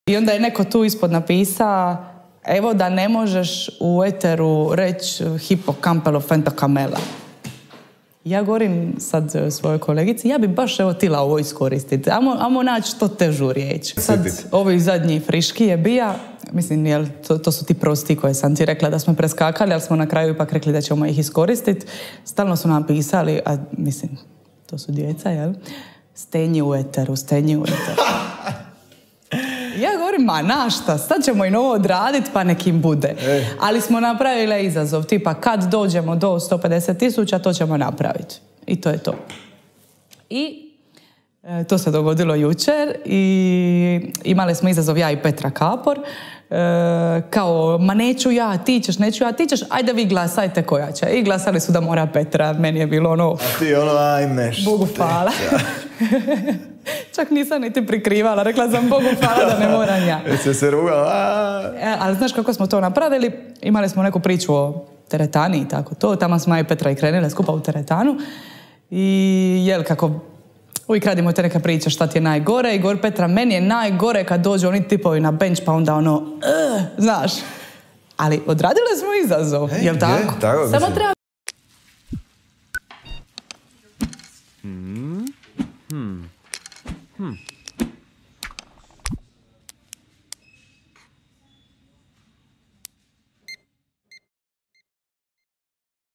I onda je neko tu ispod napisa, evo da ne možeš u eteru reći hipokampelo fentakamela. Ja govorim sad svojoj kolegici, ja bi baš evo tila ovo iskoristiti. Amo naći što težu riječ. Sad ovi zadnji friški je bija, mislim, jel, to su ti prosti koje sam ti rekla da smo preskakali, ali smo na kraju ipak rekli da ćemo ih iskoristiti. Stalno su nam pisali, a mislim, to su djeca, jel? Stenji u eteru, stenji u eteru. Ja govorim, ma našta, sad ćemo i novo odraditi pa nekim bude. Ali smo napravili izazov, tipa kad dođemo do 150.000, to ćemo napraviti. I to je to. I to se dogodilo jučer i imali smo izazov ja i Petra Kapor. Kao, ma neću ja, ti ćeš, neću ja, ti ćeš, ajde vi glasajte koja će. I glasali su da mora Petra, meni je bilo ono... A ti ono, ajme što. Bogu hvala. Čak nisam niti prikrivala, rekla sam Bogu hvala da ne moram ja. Jesi se rugala? Ali znaš kako smo to napravili? Imali smo neku priču o teretani i tako to. Tamo smo ja i Petra i krenile skupa u teretanu. I jel kako uvijek radimo te neke priče šta ti je najgore. I govori Petra, meni je najgore kad dođu oni tipovi na bench pa onda ono, znaš. Ali odradile smo izazov, jel tako? Tako, samo treba... Hmm.